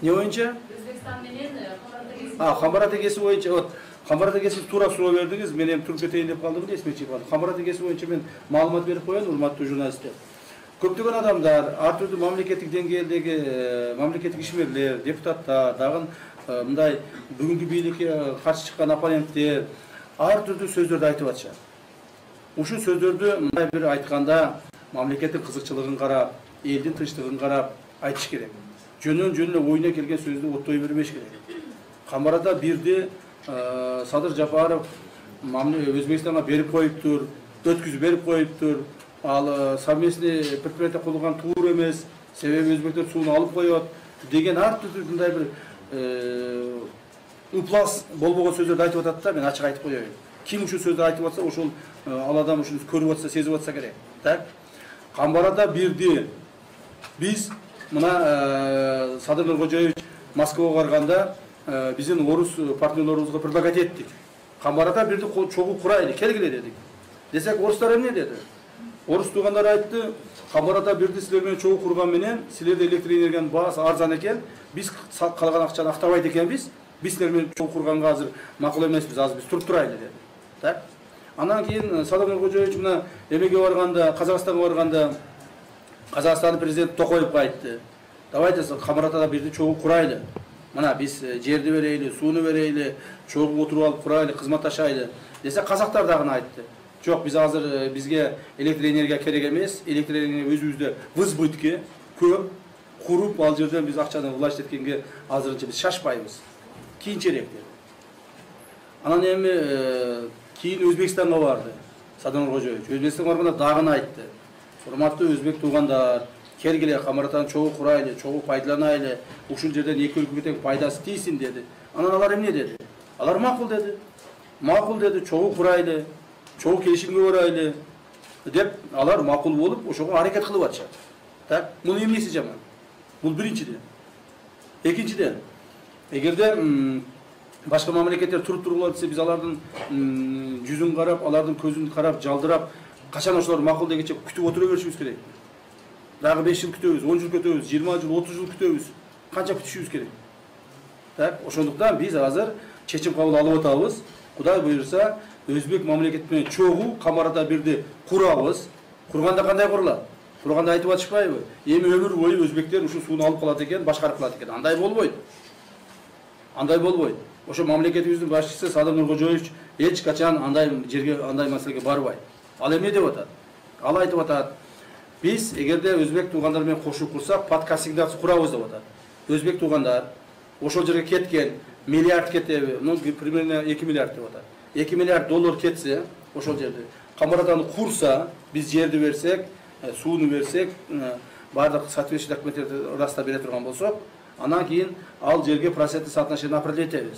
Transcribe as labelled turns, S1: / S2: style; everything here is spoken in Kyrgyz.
S1: Не боюнча?
S2: Өзбекстан менен
S1: Камбар тегеси боюнча, вот Камбар тегеси туура суроо бердиңиз, мен эми туруп кетейин деп калдым, эсиме чыгып калды. Камбар тегеси боюнча мен маалымат берип коеюн, урматтуу журналисттер. Көптөгөн адамдар, ар түрдүү мамлекеттик деңгээлдеги мамлекеттик ишмерлер, депутаттар, дагы мындай бүгүнкү бийликке каршы чыккан оппоненттер ар түрдүү сөздөрдү айтып атышат. Ушул сөздөрдү мындай бир айтканда мамлекеттин кызыкчылыгын карап, элдин тынчтыгын карап айтыш керек. Жөнөн эле оюна келген сөздү оттой бербеш керек. Камбарада бирди Садыр Жапаров Өзбекстанга берип коюптур, өткүзүп берип коюптур. Ал совместный предприятие курулган туура эмес, себеби өзбектер сууну алып коет деген ар түрдүү мындай бир ыплас болбогон сөздөрдү айтып атат да, мен ачык айтып коеюн. Ким ушул сөздү айтып атса, ошол ал адам ушуну көрүп атса, сезип атса керек. Так? Камбарада бирди биз мына Садыр Нуркожоевич Москвага барганда биздин орус партнерлорубузга предлагать эттик. Камбарада бирди чогуу курайлы, келгиле дедик. Десек, орустар эмне деди? Орус туугандар айтты, Камбарада бирди силер менен чогуу курган менен силерде электр энергиянын баасы арзан экен, биз калган акчаны актабайт экенбиз, биз силер менен чогуу курганга азыр макул эмеспиз, азыр биз туруп турайлы деди. Так? Андан кийин Садыр Нуркожоевич мына эмеге барганда, Казакстанга барганда Казакстандын президенти Токоевго айтты. Давайте Камбарадада бирди чогуу курайлы. Мына биз жерди берейли, сууну берейли, чогуу отуруп алып курайлы, кызматташайлы. Десе казактар дагы айтты. Жок, биз азыр бизге электр энергия керек эмес, электр энергия өзүбүздө в избытке көп куруп, ал жерден биз акчаны власть эткенге азырынча биз шашпайбыз. Кийинчерээк деди. Анан эми кийин Өзбекстанга барды Садыр Нуркожоевич. Өзбекстанга барганда дагы айтты. Урматтуу өзбек туугандар, келгиле Камбарадан чогуу курайлы, чогуу пайдаланайлы, ушул жерден эки өлкөгө тең пайдасы тийсин деди. Анан алар эмне деди? Алар макул деди. Макул деди, чогуу курайлы, чогуу келишимге барайлы деп алар макул болуп, ошого аракет кылып атышат. Так, мунун эмнеси жаман? Бул биринчиден. Экинчиден, эгерде башка мамлекеттер туруп тургула десе, биз алардын жүзүн карап, алардын көзүн карап, жалдырап, качан ошолор макул дегенче күтүп отура беришибиз керек. Дагы 5 жыл күтөбүз, 10 жыл күтөбүз, 20 жыл, 30 жыл күтөбүз. Канча күтүшүбүз керек? Так, ошондуктан биз азыр чечим кабыл алып атабыз. Кудай буйрса, өзбек мамлекети менен чогуу Камбарада бирди курабыз. Курганда кандай курулат? Курганда айтып атышпайбы? Эми өмүр бою өзбектер ушул сууну алып калат экен, башкарып калат экен. Андай болбойт. Андай болбойт. Ошо мамлекетибиздин башчысы Садыр Нуркожоевич эч качан андай жерге, андай маселеге барбайт. Ал эмне деп атат? Ал айтып атат: биз эгерде өзбек туугандар менен кошуп курсак, подкассингдацию курабыз деп атат. Өзбек туугандар ошол жерге кеткен, миллиард кетеби? Ну, примерно 2 миллиард деп атат. 2 миллиард доллар кетсе, ошол жерде Камбараданы курса, биз жерди берсек, сууну берсек, бардык соответствующий документтерди раста бере турган болсок, анан кийин ал жерге проценттик соотношение определить этебиз.